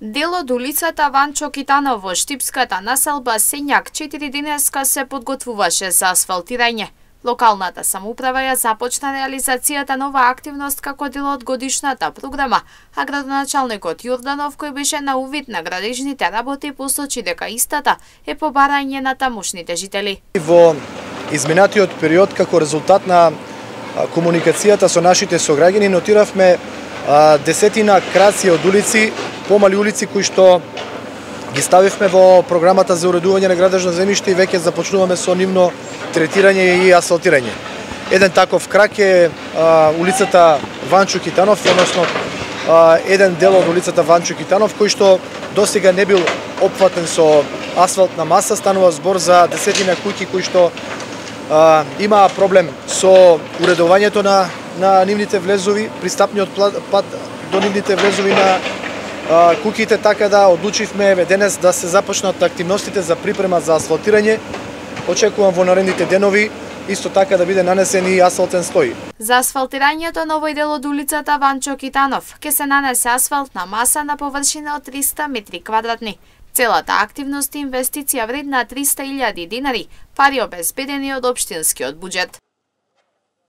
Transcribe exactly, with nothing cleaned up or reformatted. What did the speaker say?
Дел од улицата Ванчо Китанов во штипската населба Сењак четири денеска се подготвуваше за асфалтирање. Локалната самоуправа ја започна реализацијата нова активност како дел од годишната програма, а градоначалникот Јорданов, кој беше на увид на градежните работи, посочи дека истата е по барање на тамошните жители. Во изминатиот период, како резултат на комуникацијата со нашите сограѓани, нотиравме десетина краци од улици, помали улици кои што ги ставивме во програмата за уредување на градежно земјиште и веќе започнуваме со нивно третирање и асфалтирање. Еден таков крак е а, улицата Ванчо Китанов, односно а, еден дел од улицата Ванчо Китанов кој што досега не бил опфатен со асфалтна маса. Станува збор за десетина куќи кои што а, имаа проблем со уредувањето на на нивните влезови, пристапниот пат до нивните влезови на а, куќите, така да одлучивме денес да се започнат активностите за припрема за асфалтирање. Очекувам во наредните денови исто така да биде нанесен и асфалтен стој. За асфалтирањето на овој дел од улицата Ванчо Китанов ќе се нанесе асфалтна маса на површина од триста метри квадратни. Целата активност е инвестиција вредна триста илјади динари, пари обезбедени од општинскиот буџет.